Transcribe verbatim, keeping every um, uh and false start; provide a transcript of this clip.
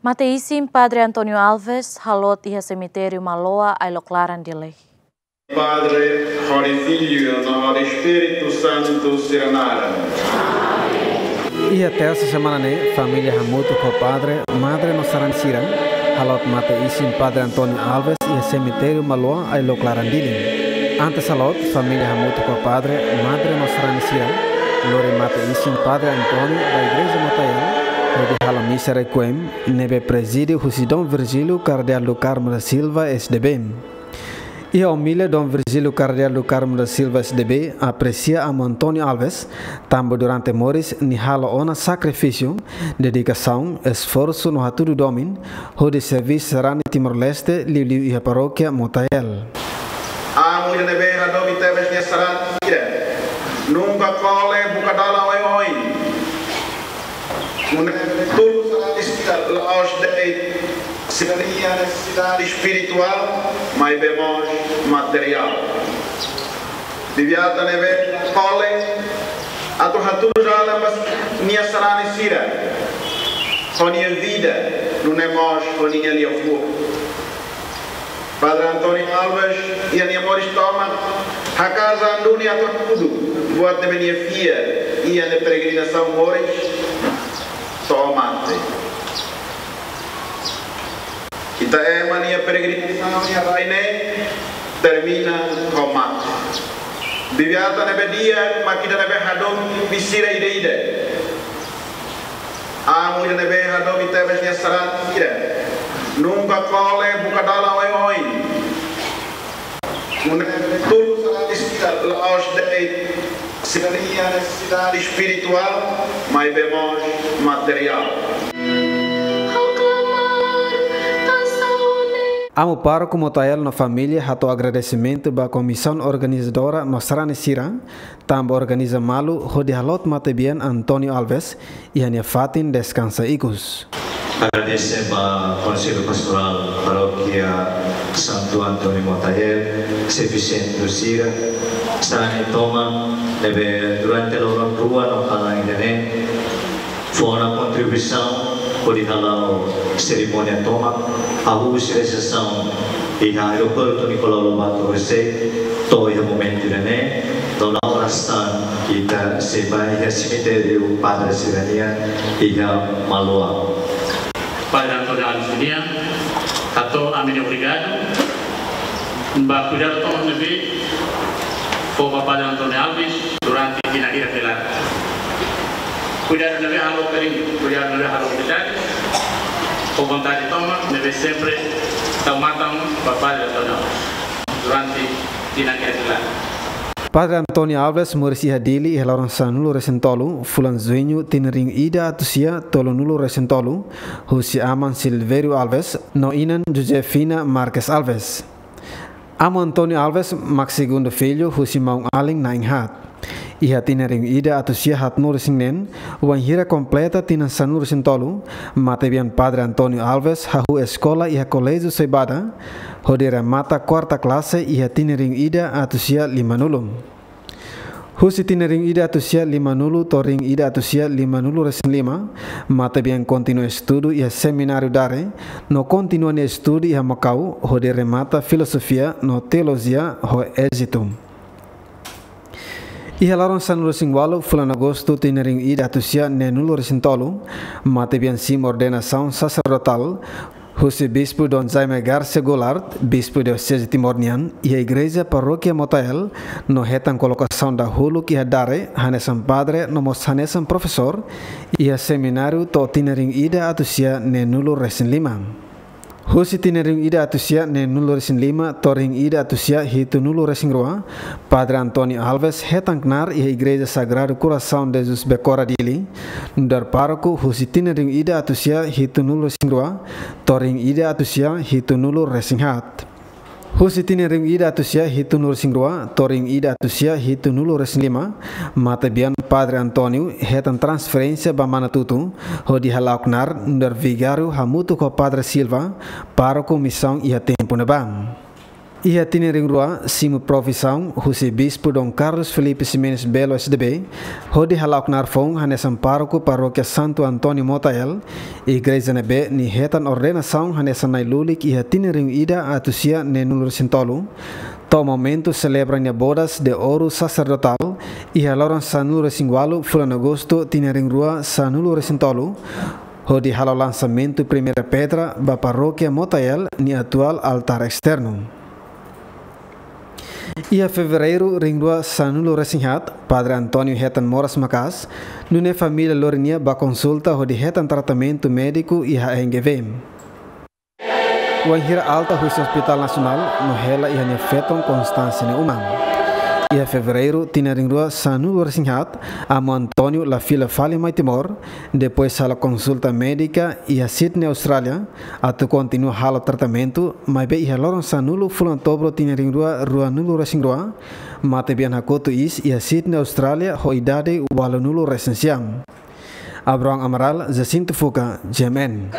Mate-isin Padre António Alves haloot iha semitériu Maloa, Ailok Laran, Dili. Padre, hodi Filho, no hodi Espíritu Santu sira naran. Iha tersa semana ne'e, família hamutuk ho padre, madre no sarani sira haloot mate-isin Padre António Alves iha semitériu Maloa, Ailok Laran, Dili. Antes haloot, família hamutuk ho padre, madre no sarani sira lori mate-isin Padre António ba Igreja Motael, hodi halo misa requiem, ne'ebé prezide husi Dom Virgílio Cardeal do Carmo da Silva, S D B. Iha omilia, Dom Virgílio Cardeal do Carmo da Silva, S D B, apresia Amu António Alves, tanba durante moris nia halo ona sakrifísiu, dedikasaun, esforsu no hatudu domin hodi serví sarani Timor-Leste, liuliu iha parókia Motael. Amu ida ne'ebé hadomi tebes nia sarani sira, nunka kole buka dalan oioin. Nune'e tulun sarani sira la'ós de'it sira-nia nesesidade espirituál, maibé mós materiál. Bibi-Atan ne'ebé kole atu hatudu dalan ba nia sarani sira, ho nia vida, nune'e mós ho nia liafuan. Padre António Alves iha nia moris tomak haka'as an duni atu hatudu buat ne'ebé nia fiar iha nia peregrinasaun moris to'o mate. Ita ema nia peregrinasaun iha rai ne'e termina ho mate. Bibi-Atan ne'ebé di'ak mak ida ne'ebé hadomi bibi sira ida-idak. Amu ida ne'ebé hadomi tebes nia sarani sira, nunka kole buka dalan oioin. Nune'e tulun sarani sira la'ós de'it sira-nia nesesidade espirituál, maibé mós materiál. Amu Pároku Motael no família hato'o agradesimentu ba komisaun organizadora no sarani sira, tanba organiza malu hodi haloot matebian António Alves iha nia fatin deskansa ikus. Agradese ba Konsellu Pastorál Parókia Santu António Motael, xefe sentru sira, sarani tomak ne'ebé durante loron rua no kalan ida-ne'e fó ona kontribuisaun hodi hala'o serimónia tomak, hahú husi resepsaun iha aeroportu Nicolau Lobato José, to'o iha momentu ida-ne'e, no la'o rastan ita sei bá iha semitériu padre sira-nian iha Maloa. Padre António Alves nian, hato'o ami-nia obrigadu ba kuidadu tomak ne'ebé fó ba Padre António Alves durante tinan hirak nia laran. Kuidadu ne'ebé halo kariñu, kuidadu ne'ebé halo amizade, ho vontade tomak ne'ebé sempre tau matan ba Padre António Alves durante tinan hirak nia laran. Padre António Alves moris iha Dili iha loron sanulu-resin-tolu, fulan Juñu, tinan rihun ida atus sia tolunulu-resin-tolu, husi aman Silvério Alves no inan Josefina Marques Alves. Amu António Alves mak segundu fillu husi maun-alin na'in-haat. Iha tinan rihun ida atus sia haatnulu-resin-neen, wainhira kompleta tinan sanulu-resin-tolu, matebian Padre António Alves hahú eskola iha Koléjiu Soibada, hodi remata kuarta klase iha tinan rihun ida atus sia limanulu. Husi tinan rihun ida atus sia limanulu to'o rihun ida atus sia limanulu-resin-lima, matebian kontinua estudu iha Semináriu Dare, no kontinua nia estudu iha Makau, hodi remata Filozofia no Teolojia ho ézitu. Iha loron sanulu-resin-ualu, fulan Agostu, tinan rihun ida atus sia neenulu-resin-tolu, matebian simu ordenasaun saserdotál, husi Bispu Dom Jaime Garcia Goulart, Bispu Dioseze Timor nian, iha Igreja Parókia Motael, no hetan kolokasaun dahuluk iha Dare, hanesan padre no mós hanesan profesór, iha semináriu to'o tinan rihun ida atus sia neenulu-resin-lima. Husi tinan rihun ida atus sia neenulu-resin-lima to'o rihun ida atus sia hitunulu-resin-rua, Padre António Alves hetan knaar iha Igreja Sagrado Coração de Jesus Becora Dili, nu'udar pároku husi tinan rihun ida atus sia hitunulu-resin-rua to'o rihun ida atus sia hitunulu-resin-haat. Husi tinan rihun ida atus sia hitunulu-resin-rua to'o rihun ida atus sia hitunulu-resin-lima, matebian Padre António hetan transferénsia ba Manatuto, hodi hala'o knaar nu'udar vigáriu hamutuk ho Padre Silva, pároku misaun iha tempu ne'ebá. Iha tinan rihun rua, simu profisaun husi Bispu Dom Carlos Filipe Ximenes Belo S D B, hodi hala'o knaar foun hanesan pároku Parókia Santo António Motael, igreja ne'ebé nia hetan ordenasaun hanesan na'i-lulik iha tinan rihun ida atus sia neenulu resin tolu, to'o momentu selebra nia bodas de ouro saserdotál, iha loron sanulu resin ualu fulan Agostu tinan rihun rua sanulu resin tolu, hodi halo lansamentu primeira pedra ba Parókia Motael nia atuál altár esternu. Iha Fevereiru rihun rua sanulu resin haat, Padre António hetan moras maka'as, nune'e família lori nia ba konsulta hodi hetan tratamentu médiku iha A N G V. Wainhira alta husi Hospitál Nasionál, no hela iha nia feton Constância nia uma. Iha Fevereiru tinan rihun rua sanulu resin haat, Amu António la fila fali mai Timor, depois halo konsulta médika iha Sydney, Austrália, atu kontinua halo tratamentu, maibé iha loron sanulu fulan Outubru tinan rihun rua ruanulu resin rua, matebian hakotu iis iha Sydney, Austrália, ho idade ualunulu resin sia. Abrão Amaral, Jacinto Fuca, G M N.